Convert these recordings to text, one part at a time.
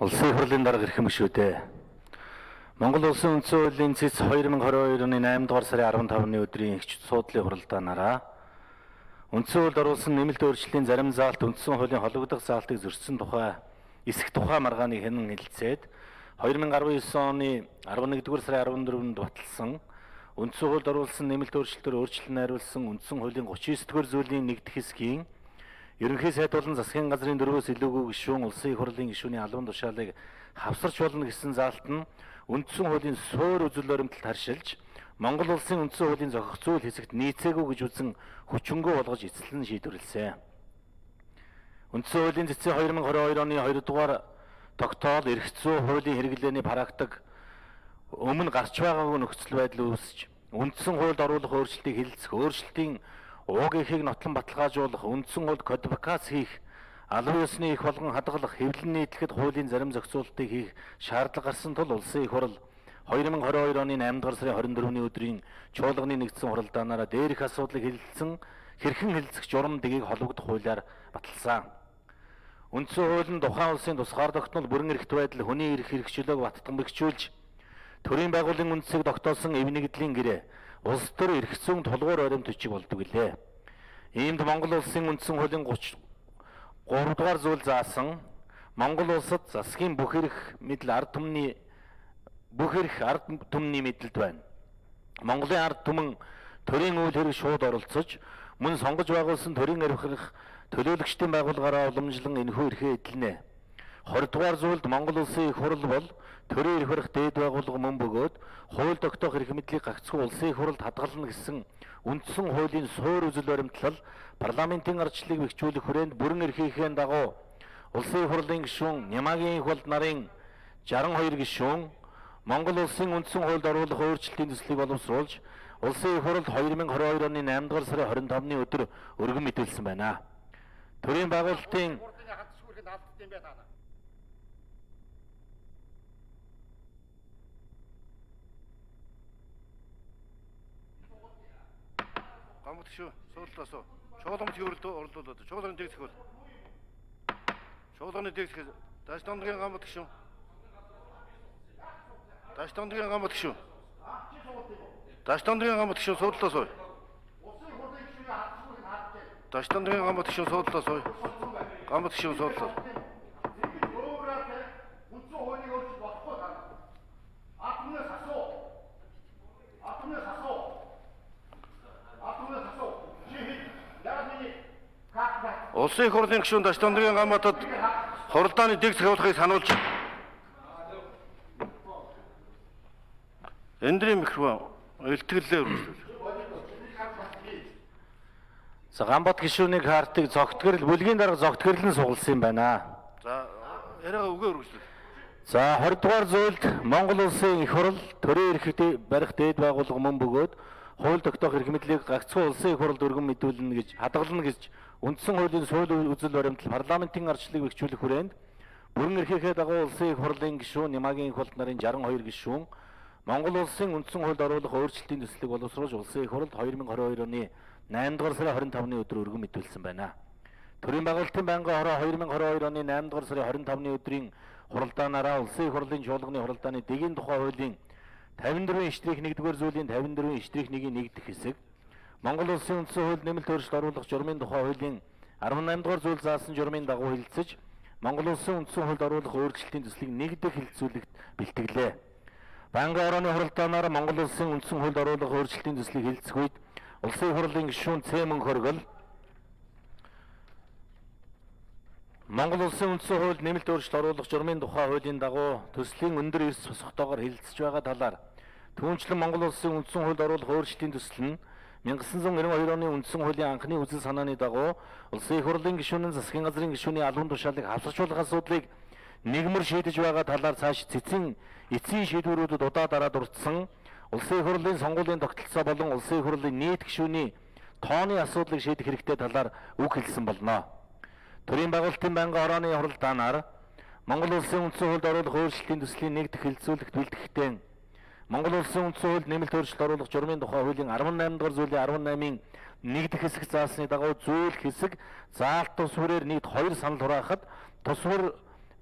Улсын хурлын дарга ирэх юм шүү дээ. Монгол Улсын үндсэн хуулийн цэц 2022 оны 8 дугаар сарын 15-ны өдрийн ихч суудлын хуралдаанаараа үндсэн хуульд оруулсан нэмэлт өөрчлөлийн зарим заалт үндсэн хуулийн хологдох заалтыг зөрчсөн тухай эсэх тухай маргааныг хянан хэлэлцээд 2019 оны 11 дугаар сарын 14-нд баталсан үндсэн хуульд оруулсан нэмэлт өөрчлөлтөөр өөрчлөлт найруулсан үндсэн хуулийн 39 дугаар зүйлийн 1 дэх хэсгийн ерөнхий сайд болон засгийн газрын 4-өөс илүүгүй гишүүн улсын их хурлын гишүүний албан тушаалыг хавсарч болно гэсэн заалт нь үндсэн хуулийн суур үзэл баримталд харшилж Монгол улсын үндсэн хуулийн зохих зүйл хэсэгт нийцээгүй гэж үзэн хүчингү болгож эцэслэн шийдвэрлэсэн. Үндсэн хуулийн цэцэн 2022 оны 2 дугаар тогтоол эрх зүйн хуулийн хэрэглээний практик өмнө гарч байгаагүй нөхцөл байдал үүсэж үндсэн хуульд оруулах өөрчлөлтийг хэлэлцэх, өөрчлөлтийн уг эхийг нотлон баталгаажуулах, үндсэн хуульд кодификац хийх, албан ёсны их болгон хадгалах, хэвлэн нийтлэхэд хуулийн зарим зохицуултыг хийх шаардлага гарсан тул улсын их хурл 2022 оны 8 дугаар сарын 24-ний өдрийн чуулганы нэгдсэн хуралдаанаараа дээрх асуудлыг хэлэлцэн хэрхэн хэлэлцэх журам дэгийг хологдох хуулиар баталсан. Үндсэн хууль нь тухайн улсын тусгаар тогтнол бүрэн эрхт байдал, хүний эрх хэрэгчлөөг баттгамжуулж төрийн байгууллагын үндсийг тогтоосон эв нэгдлийн гэрээ улс төр эрх зүйн тулгуур баримт бичиг болдог билээ. Иймд Монгол улсын үндсэн хуулийн 33 дугаар зүйл заасан Монгол улсад засгийн бүх эрх ард түмний мэдэлд байна. Монголын ард түмэн төрийн үйл хэрэг шууд оролцож мөн сонгож байгуулсан төрийн эрх төлөөлөгчдийн байгууллагаараа уламжлан энэхүү эрхээ эдэлнэ. 20 дугаар зүйлд Монгол улсын их хурл бол төрийн эрх барих дээд байгууллага мөн бөгөөд хууль тогтоох эрх мэдлийг гагцхүү улсын их хурлд хадгална гэсэн үндсэн хуулийн суур үзэл баримтлал парламентын ардчлалыг бэхжүүлэх хүрээнд бүрэн эрхийнхээ дагуу улсын их хурлын гишүүн Нямагийн их болд нарын 62 гишүүн Монгол улсын үндсэн хуульд оруулах өөрчлөлтийн төслийг боловсруулж улсын их хурлд 2022 оны 8 дугаар сарын 25-ны өдөр өргөн мэдүүлсэн байна. Төрийн байгуулалтын гамт шүү суултаасоо чуулгант оролдуулаад чуулганы дэг зохиол чуулганы дэг зохиол даштандгийн гамт шүү даштандгийн гамт шүү даштандгийн гамт шүү суултаасоо даштандгийн гамт шүү суултаасоо гамт шүү суултаа Улсын их хурлын гишүүн Даштандгийн гаматад хуралдааны дэг зохиолохыг сануулж эндрийн микрофон илтгэлээ үргэлжлүүл. За Гамбат гишүүнийг хартыг зогтгөрл бүлгийн дарга зогтгөрлөн сугалсан юм байна. За яриага үгээ үргэлжлүүл. За 20 дугаар зүйлд Монгол улсын их хурл төрийн эрх барих дээд байгууллага мөн бөгөөд хууль тогтоох эрх мэдлийг гагцхүү улсын их хурлд өргөн мэдүүлнэ гэж хадгална гэж үндсэн хуулийн суур үзэл баримтал парламентын ардчлалыг бэхжүүлэх хүрээнд бүрэн эрхийнхээ дагуу улсын их хурлын гишүүн Нямагийн их болд нарын 62 гишүүн Монгол улсын үндсэн хуульд оруулах өөрчлөлтийн төслийг боловсруулж улсын их хурлд 2022 оны 8 дугаар сарын 25-ны өдөр өргөн мэдүүлсэн байна. Төрийн байгуулалтын байнгын хороо 2022 оны 8 дугаар сарын 25-ны өдрийн хуралдаанаараа улсын их хурлын чуулганы хуралдааны дэгийн тухай хуулийн 54-1-р зүйлийн 54-1-ийн 1 дэх хэсэг Монгол улсын үндсэн хуульд нэмэлт өөрчлөлт оруулах журмын тухай хуулийн 18 дугаар зүйл заасан журмын дагуу хэлэлцэж Монгол улсын үндсэн хуульд оруулах өөрчлөлтийн төслийг 1 дэх хэлэлцүүлэгт бэлтгэлээ. Байнгын хорооны хуралдаанаар Монгол улсын үндсэн хуульд оруулах өөрчлөлтийн төслийг хэлэлцэх үед улсын их хурлын гишүүн Цэмэн Хоргол Монгол улсын үндсэн хуульд нэмэлт өөрчлөлт оруулах журмын тухай хуулийн дагуу төслийн өндөр эрс босготоогоор хэлэлцэж байгаа талаар түүнчлэн Монгол улсын үндсэн хуульд оруулах өөрчлөлтийн төсөл нь 1992 оны үндсэн хуулийн анхны үзэл санааны дагуу улсын их хурлын гишүүн засгийн газрын гишүүний албан тушаалыг хавсарчуулах асуудлыг нэгмэр шийдэж байгаа талаар цааш эцсийн шийдвэрүүдэд удаа дараа дурдсан улсын их хурлын сонгуулийн тогтолцоо болон улсын их хурлын нийт гишүүний тооны асуудлыг шийдэх хэрэгтэй талаар үг хэлсэн болно. Төрийн байгуулалтын байнгын хорооны хуралдаанаар Монгол улсын үндсэн хуульд оруулах өөрчлөлтийн төслийн 1 дэх хэлэлцүүлэгт бэлтгэхдээ Монгол улсын үндсэн хуульд нэмэлт өөрчлөлт оруулах журмын тухай хуулийн 18 дугаар зүйлийн 18-ийн 1 дэх хэсэг заасны дагуу зүйл хэсэг заалт тус хүрээр нийт 2 санал хураахад тус хур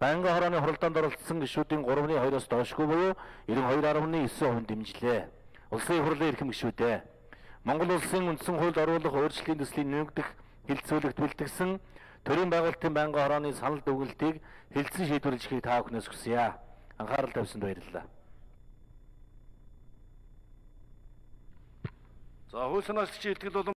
Байнгын хорооны хуралдаанд оролцсон гишүүдийн 3/2-оос доошгүй буюу 92.9% дэмжлээ. Улсын хурлын эрхэм гишүүдээ Монгол улсын үндсэн хуульд оруулах өөрчлөлийн төслийн нэмэгдэх хилцүүлэгт бэлтгэсэн төрийн байгуулалтын байнгын хорооны санал дүгнэлтийг хэлтсэн шийдвэрлэхийг та бүхнээс хүсье. Анхаарал тавьсанд баярлалаа. За хууль санаачлагчийн илтгэл болон